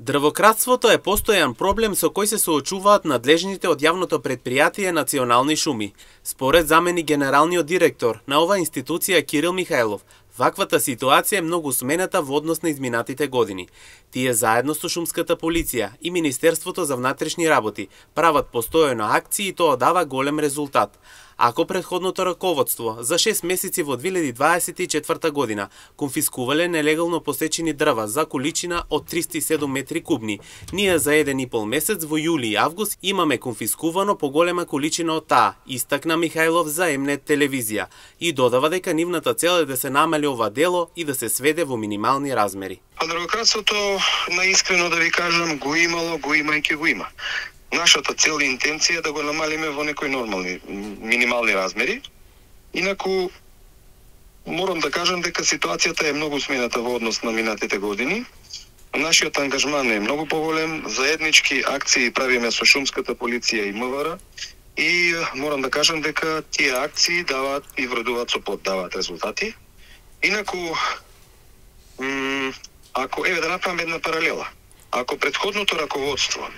Дрвократството е постојан проблем со кој се соочуваат надлежните од јавното претпријатие Национални шуми. Според заменик генералниот директор на оваа институција Кирил Михајлов, ваквата ситуација е многу смената во однос на изминатите години. Тие заедно со шумската полиција и Министерството за внатрешни работи прават постојано акции и тоа дава голем резултат. Ако претходното раководство за 6 месеци во 2024 година конфискувале нелегално посечени дрва за количина од 307 метри кубни, ние за 1,5 месец во јули и август имаме конфискувано поголема количина од таа, истакна Михајлов за М-нет телевизија и додава дека нивната цел е да се намали ова дело и да се сведе во минимални размери. Дрвократството, наискрено да ви кажам, го имало, го има и ќе го има. Нашата цел и интенција е да го намалиме во некои нормални, минимални размери. Инаку, морам да кажам дека ситуацијата е многу смената во однос на минатите години. Нашиот ангажман е многу поголем, заеднички акции правиме со шумската полиција и МВР и морам да кажам дека тие акции даваат и вредуваат со плод, даваат резултати. Инаку, ако да направам една паралела, ако претходното раководство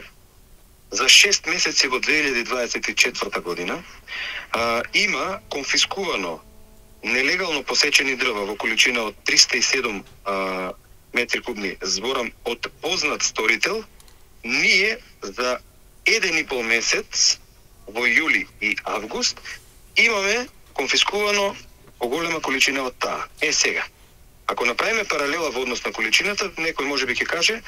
за 6 месеци во 2024 година има конфискувано нелегално посечени дрва во количина од 307 метри кубни, зборам од познат сторител, ние за 1,5 месец во јули и август имаме конфискувано поголема количина од таа. Сега, ако направиме паралела во однос на количината, некој можеби ќе каже,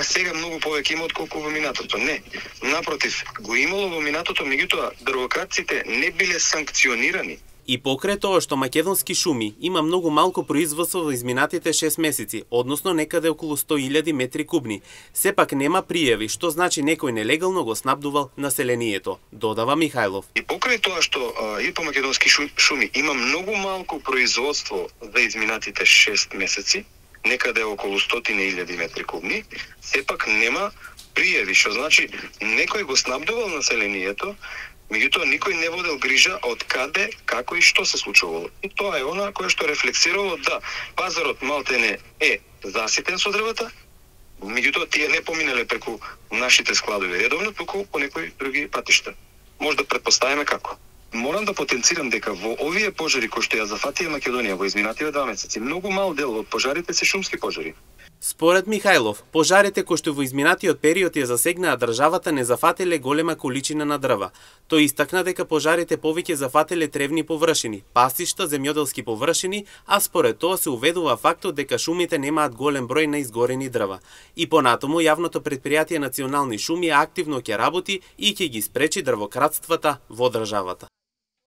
сега многу повеќе има отколку во минатото. Не, напротив, го имало во минатото, меѓутоа дрвократците не биле санкционирани. И покрај тоа што македонски шуми има многу малку производство во изминатите 6 месеци, односно некаде околу 100.000 метри кубни, сепак нема пријави, што значи некој нелегално го снабдувал населението, додава Михајлов. И покрај тоа што и по македонски шуми има многу малку производство за изминатите 6 месеци, некаде околу 100.000 метри кубни, сепак нема пријави, што значи некој го снабдувал населението, меѓутоа никој не водел грижа од каде, како и што се случувало. И тоа е она кое што рефлексирало да пазарот малтене е заситен со дрвата, меѓутоа тие не поминале преку нашите складови редовно, туку по некои други патишта. Може да претпоставиме како. Морам да потенцирам дека во овие пожари кои што ја зафатија Македонија во изминативе 2 месеци, многу мал дел од пожарите се шумски пожари. Според Михајлов, пожарите кои што во изминатиот период ја засегнаа државата не зафателе голема количина на дрва. Тој истакна дека пожарите повеќе зафателе тревни површини, пасишта, земјоделски површини, а според тоа се уведува фактот дека шумите немаат голем број на изгорени дрва. И понатаму јавното претпријатие Национални шуми активно ќе работи и ќе ги спречи дрвократствата во државата.